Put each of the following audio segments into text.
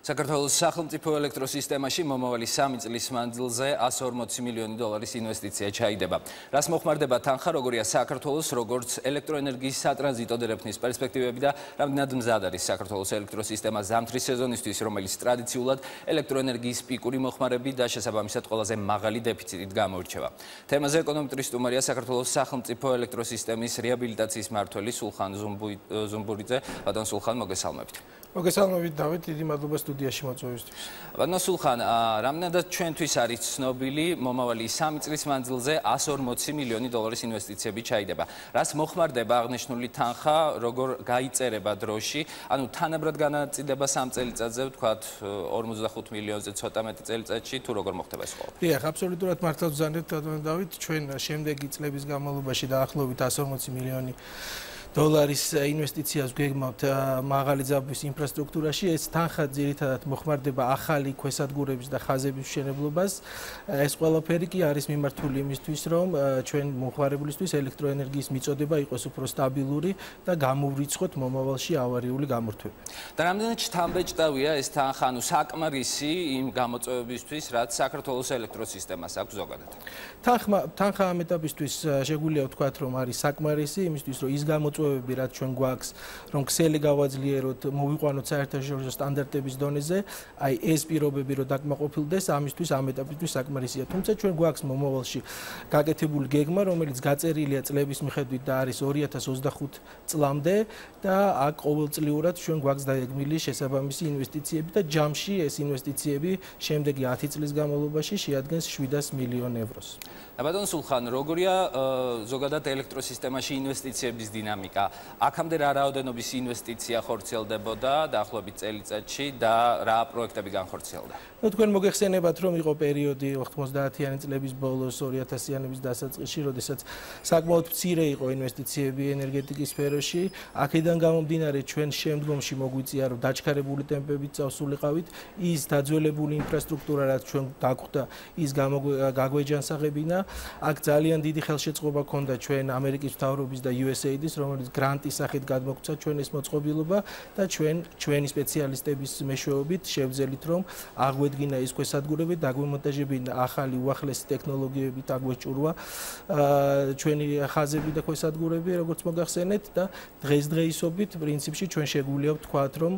საქართველოს სახელმწიფო ელექტროსისტემაში მომავალი 3 წლის მანძილზე 140 მილიონი დოლარის ინვესტიცია ჩაიდება. რაც მოხმარდება თანხა, როგორია საქართველოს, როგორც ელექტროენერგიის სატრანზიტო დერეფნის პერსპექტივები და რამდენად მზად არის საქართველოს ელექტროსისტემა ზამთრის სეზონისთვის, რომელიც ტრადიციულად ელექტროენერგიის პიკური მოხმარები და შესაბამისად ყველაზე მაღალი დეფიციტით გამოირჩევა. თემაზე ეკონომისტრი სტუმარია საქართველოს სახელმწიფო ელექტროსისტემის რეაბილიტაციის მმართველი სულხან ზუმბურიძე. ბატონ სულხან, მოგესალმებით. მოგესალმებით დავით, დიდი მადლობა სტუდიაში მოწვევისთვის. ბატონ სულხან, რამდენადაც ჩვენთვის არის ცნობილი, მომავალი 3 წლის მანძილზე 140 მილიონი დოლარის ინვესტიციები ჩაიდება. რაც მოხმარდება აღნიშნული თანხა, როგორ გაიწერება დროში, ანუ თანაბრად განაწილება 3 წელიწადზე, ვთქვათ 45 მილიონზე ცოტა მეტი წელიწადში, თუ როგორ მოხდება ეს ყველაფერი? დიახ, აბსოლუტურად მართლაც ვზანდებთ დავით, ჩვენ შემდეგი წლების განმავლობაში დაახლოებით 140 მილიონი დოლარის ინვესტიციას გვეგმავთ მაღალი ძაბვის ინფრასტრუქტურაში. ეს თანხა ძირითადად მოხმარდება ახალი ქვესადგურების და ხაზების მშენებლობას. ეს ყველაფერი კი არის მიმართული იმისთვის, რომ ჩვენ მომხმარებლისთვის ელექტროენერგიის მიწოდება იყოს უფრო სტაბილური და გამოვრიცხოთ მომავალში ავარიული გამორთვები. და რამდენად შთამბეჭდავია ეს თანხა, ანუ საკმარისი იმ გამოწვევებისთვის, რაც საქართველოს ელექტროსისტემას აქვს ზოგადად? თანხა ამ ეტაპისთვის შეგვიძლია ვთქვათ, რომ არის საკმარისი იმისთვის, რომ ის გამოწვევები რაც ჩვენ გვაქვს, რომ ქსელი გავაძლიეროთ, მოვიყვანოთ საერთაშორისო სტანდარტების დონეზე, აი ეს პირობები რომ დაკმაყოფილდეს, ამისთვის ამ ეტაპისთვის საკმარისია. თუმცა ჩვენ გვაქვს მომავალში გაკეთებული გეგმა, რომელიც გაწერილია წლების მიხედვით და არის 2025 წლამდე და აქ ყოველწლიურად ჩვენ გვაქვს დაგეგმილი შესაბამისი ინვესტიციები და ჯამში ეს ინვესტიციები შემდეგი 10 წლის განმავლობაში შეადგენს 700 მილიონ ევროს. ბატონ სულხან, როგორია ზოგადად ელექტროსისტემაში ინვესტიციების დინამიკა? აქამდე რა რაოდენობის ინვესტიცია ხორციელდებოდა დაახლოებით წელიწადში და რა პროექტები განხორციელდა? თქვენ მოგეხსენებათ, რომ იყო პერიოდი 90-იანი წლების ბოლოს 2000-იანების დასაწყისში, როდესაც საკმაოდ მცირე იყო ინვესტიციები ენერგეტიკის სფეროში. აქედან გამომდინარე, ჩვენ შემდგომში მოგვიწია, რომ დაჩქარებული ტემპებით წავსულიყავით, ის დაძველებული ინფრასტრუქტურა, რაც ჩვენ დაგვხვდა, ის გაგვეჯანსაღებინა. აქ ძალიან დიდი ხელშეწყობა ჰქონდა ჩვენ ამერიკის მთავრობის და USAID-ის, რომელიც გრანტის სახით გადმოგვცა ჩვენ ეს მოწყობილობა და ჩვენი სპეციალისტების მეშვეობით შევძელით, რომ აღვედგინა ის ქვესადგურები, დაგვემონტაჟებინა ახალი უახლესი ტექნოლოგიებით, აგვეჭურვა ჩვენი ხაზები და ქვესადგურები, როგორც მოგახსენეთ და დღესდღეობით პრინციპში ჩვენ შეგვიძლია ვთქვათ, რომ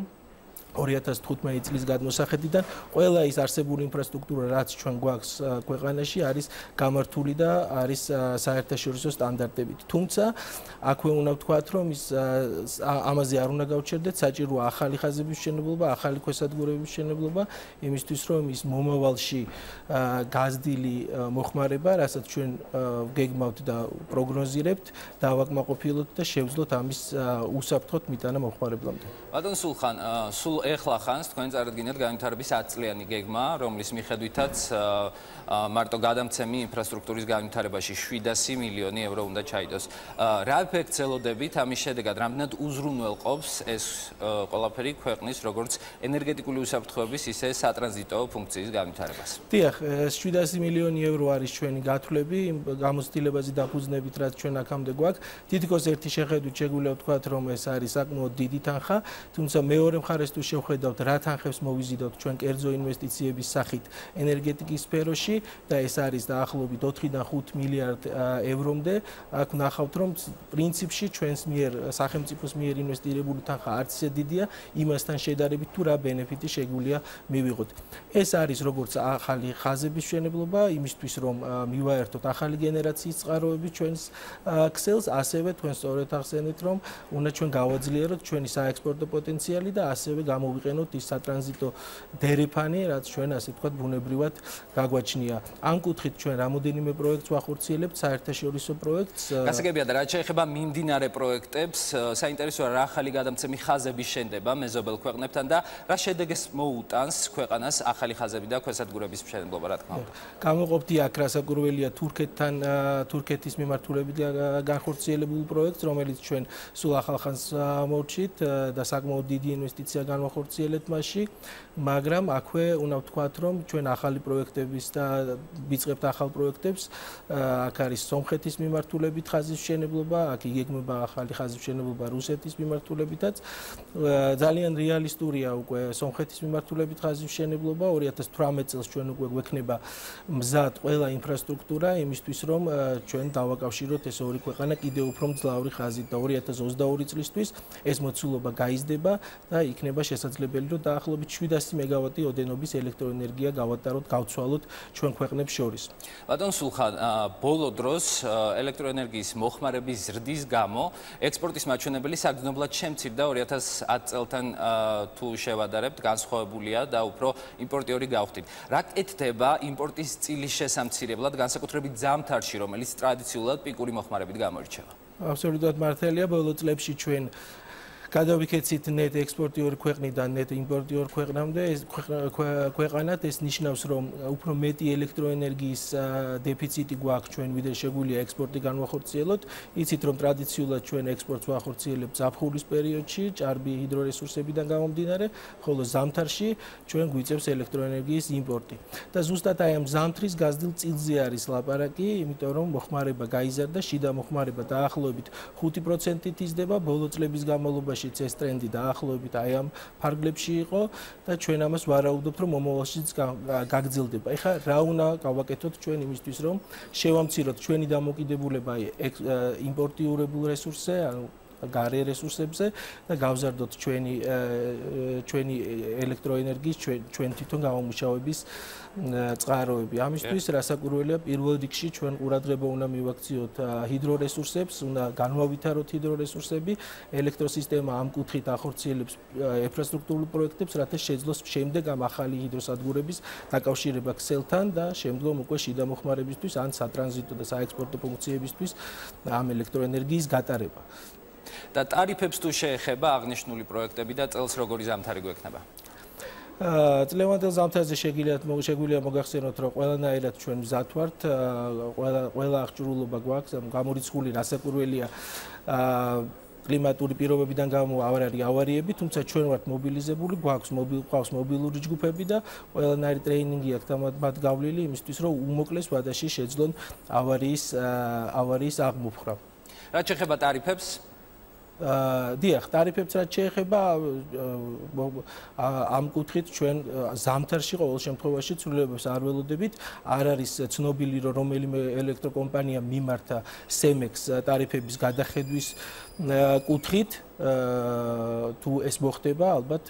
2015 წლის გადმოსახედიდან ყველა ის არსებული ინფრასტრუქტურა, რაც ჩვენ გვაქვს ქვეყანაში, არის გამართული და არის საერთაშორისო სტანდარტებით. თუმცა აქვე უნდა ვთქვათ, რომ ამაზე არ უნდა გავჩერდეთ, საჭიროა ახალი ხაზების მშენებლობა, ახალი ქვესადგურების მშენებლობა, იმისთვის, რომ ის მომავალში გაზრდილი მოხმარება, რასაც ჩვენ გეგმავთ და პროგნოზირებთ, დავაკმაყოფილოთ და შევძლოთ ამის უსაფრთხოდ მიტანა მომხმარებლამდე. ბატონ სულხან, სულ ეხლა ხანს თქვენ წარადგინეთ განვითარების 10 წლიანი გეგმა, რომლის მიხედვითაც მარტო გადამცემი ინფრასტრუქტურის განვითარებაში 700 მილიონი ევრო უნდა ჩაიდოს. რა ეფექტს ელოდებით ამის შედეგად, რამდენად უზრუნველყოფს ეს ყველაფერი ქვეყნის როგორც ენერგეტიკული უსაფრთხოების, ისე სატრანზიტო ფუნქციის განვითარებას? დიახ, 700 მილიონი ევრო არის ჩვენი გათვლები, იმ გამოცდილებაზე დაფუძნებით, რაც ჩვენ აქამდე გვაქვს. თითქოს ერთი შეხედვით შეგვიძლია ვთქვათ, რომ ეს არის საკმაოდ დიდი თანხა, თუმცა მეორე მხარეს თუ შევხედავთ, რა თანხებს მოვიზიდავთ ჩვენ კერძო ინვესტიციების სახით ენერგეტიკის სფეროში და ეს არის დაახლოებით 4-დან 5 მილიარდ ევრომდე. აქ ნახავთ, რომ პრინციპში ჩვენს მიერ სახელმწიფოს მიერ ინვესტირებული თანხა არც ისე დიდია, იმასთან შედარებით თუ რა ბენეფიტი შეგვიძლია მივიღოთ. ეს არის როგორც ახალი ხაზების მშენებლობა, იმისთვის რომ მივაერთოთ ახალი გენერაციის წყაროები ჩვენს ქსელს, ასევე თქვენ სწორედ ახსენეთ, რომ უნდა ჩვენ გავაძლიეროთ ჩვენი საექსპორტო პოტენციალი და ასევე გამოვიყენოთ ის სატრანზიტო დერეფანი, რაც ჩვენ ასე ვთქვათ ბუნებრივად გაგვაჩნია. ამ კუთხით ჩვენ რამოდენიმე პროექტს ვახორციელებთ, საერთაშორისო პროექტს. გასაგებია და რაც შეეხება მიმდინარე პროექტებს, საინტერესოა რა ახალი გადამცემი ხაზები შენდება მეზობელ ქვეყნებთან და რა შედეგს მოუტანს ქვეყანას ახალი ხაზები და ქვესადგურების მშენებლობა, რა თქმა უნდა. გამოყოფდი აქ რასაკურველია თურქეთთან, თურქეთის მიმართულებით განხორციელებულ პროექტს, რომელიც ჩვენ სულ ახალ ხანს მოვჭით და საკმაოდ დიდი ინვესტიცია განვახორციელებთ. გავახორციელეთ მასში, მაგრამ აქვე უნდა ვთქვათ, რომ ჩვენ ახალი პროექტების და ვიწყებთ ახალ პროექტებს, აქ არის სომხეთის მიმართულებით ხაზის მშენებლობა, აქ იგეგმება ახალი ხაზის მშენებლობა რუსეთის მიმართულებითაც. ძალიან რეალისტურია უკვე სომხეთის მიმართულებით ხაზის მშენებლობა. 2018 წელს ჩვენ უკვე გვექნება მზად ყველა ინფრასტრუქტურა იმისთვის, რომ ჩვენ დავაკავშიროთ ეს ორი ქვეყანა კიდევ უფრო მძლავრი ხაზით და 2022 წლისთვის ეს მოცულობა გაიზრდება და იქნება შესაძლებელი, რომ დაახლოებით 700 მეგავატი ოდენობის ელექტროენერგია გავატაროთ, გავცვალოთ ჩვენ ქვეყნებს შორის. ბატონ სულხან, ბოლო დროს ელექტროენერგიის მოხმარების ზრდის გამო ექსპორტის მაჩვენებელი საგრძნობლად შემცირდა 2010 წელთან თუ შევადარებთ, განსხვავებულია და უფრო იმპორტიორი გავხდით. რა კეთდება იმპორტის წილის შესამცირებლად, განსაკუთრებით ზამთარში, რომელიც ტრადიციულად პიკური მოხმარებით გამოირჩევა? აბსოლუტურად მართალია, ბოლო წლებში ჩვენ გადავიქეცით ნეტ ექსპორტიორ ქვეყნიდან ნეტ იმპორტიორ ქვეყნამდე, ქვეყანად ეს ნიშნავს, რომ უფრო მეტი ელექტროენერგიის დეფიციტი გვაქვს ჩვენ, ვიდრე შეგვიძლია ექსპორტი განვახორციელოთ. იცით, რომ ტრადიციულად ჩვენ ექსპორტს ვახორციელებთ ზაფხულის პერიოდში, ჭარბი ჰიდრორესურსებიდან გამომდინარე, ხოლო ზამთარში ჩვენ გვიწევს ელექტროენერგიის იმპორტი. და ზუსტად აი ამ ზამთრის გაზრდილ წილზე არის ლაპარაკი, იმიტომ რომ მოხმარება გაიზარდა, შიდა მოხმარება დაახლოებით 5%-ით იზრდება, ბოლო წლების განმავლობაში ეს ტრენდი დაახლოებით აი ამ ფარგლებში იყო და ჩვენ ამას ვარაუდობთ, რომ მომავალშიც გაგრძელდება. ეხლა რა უნდა გავაკეთოთ ჩვენ იმისთვის, რომ შევამციროთ ჩვენი დამოკიდებულება იმპორტიურებულ რესურსზე, ანუ გარე რესურსებზე და გავზარდოთ ჩვენი ელექტროენერგიის ჩვენ თვითონ გამომუშავების წყაროები. ამისთვის რასაკვირველია, პირველ რიგში ჩვენ ყურადღება უნდა მივაქციოთ ჰიდრორესურსებს, უნდა განვავითაროთ ჰიდრორესურსები, ელექტროსისტემა ამ კუთხით ახორციელებს ინფრასტრუქტურულ პროექტებს, რათა შეძლოს შემდეგ ამ ახალი ჰიდროსადგურების დაკავშირება ქსელთან და შემდგომ უკვე შიდა მოხმარებისთვის ან სატრანზიტო და საექსპორტო ფუნქციებისთვის ამ ელექტროენერგიის გატარება. და ტარიფებს თუ შეეხება აღნიშნული პროექტები და წელს როგორი ზამთარი გვექნება? წლევანდელ ზამთარზე შეგვიძლია მოგახსენოთ, რომ ყველანაირად ჩვენ მზად ვართ, ყველა აღჭურვილობა გვაქვს, გამორიცხული რასაკვირველია კლიმატური პირობებიდან გამო არ არის ავარიები, თუმცა ჩვენ ვართ მობილიზებული, გვაქვს მობილური ჯგუფები და ყველანაირი ტრეინინგი აქვს მათ გავლილი იმისთვის, რომ უმოკლეს ვადაში შეძლონ ავარიის აღმოფხვრა. რაც შეეხება ტარიფებს, დიახ, ტარიფებს რაც შეეხება ამ კუთხით ჩვენ ზამთარში ყოველ შემთხვევაში ცვლილებებს არ ველოდებით. არ არის ცნობილი, რომ რომელიმე ელექტროკომპანია მიმართა სემექს ტარიფების გადახედვის კუთხით. თუ ეს მოხდება, ალბათ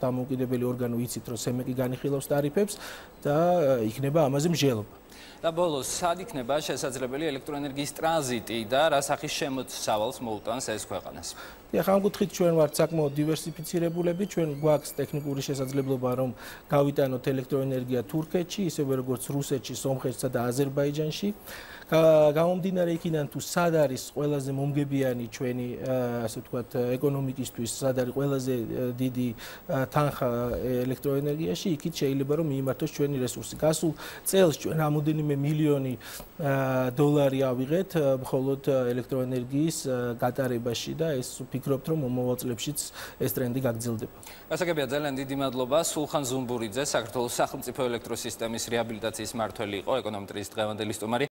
დამოუკიდებელი ორგანო იცით, რომ სემეკი განიხილავს ტარიფებს და იქნება ამაზე მსჯელობა. და ბოლოს, სად იქნება შესაძლებელი ელექტროენერგიის ტრანზიტი და რა სახის შემოსავალს მოუტანს ეს ქვეყანას? ეხლა ამ კუთხით ჩვენ ვართ საკმაოდ დივერსიფიცირებულები, ჩვენ გვაქვს ტექნიკური შესაძლებლობა, რომ გავიტანოთ ელექტროენერგია თურქეთში, ისევე როგორც რუსეთში, სომხეთსა და აზერბაიჯანში. გამომდინარე იქიდან, თუ სად არის ყველაზე მომგებიანი ჩვენი, ასე ვთქვათ, ეკონომიკისთვის, სად არის ყველაზე დიდი თანხა ელექტროენერგიაში, იქით შეიძლება რომ მიიმართოს ჩვენი რესურსი. გასულ წელს ჩვენ რამოდენიმე მილიონი დოლარი ავიღეთ მხოლოდ ელექტროენერგიის გატარებაში და ეს ვფიქრობთ, რომ მომავალ წლებშიც ეს ტრენდი გაგრძელდება. გასაგებია, ძალიან დიდი მადლობა. სულხან ზუმბურიძე, საქართველოს სახელმწიფო ელექტროსისტემის რეაბილიტაციის მმართველი იყო, ეკონომეტრის დღევანდელი სტუმარი.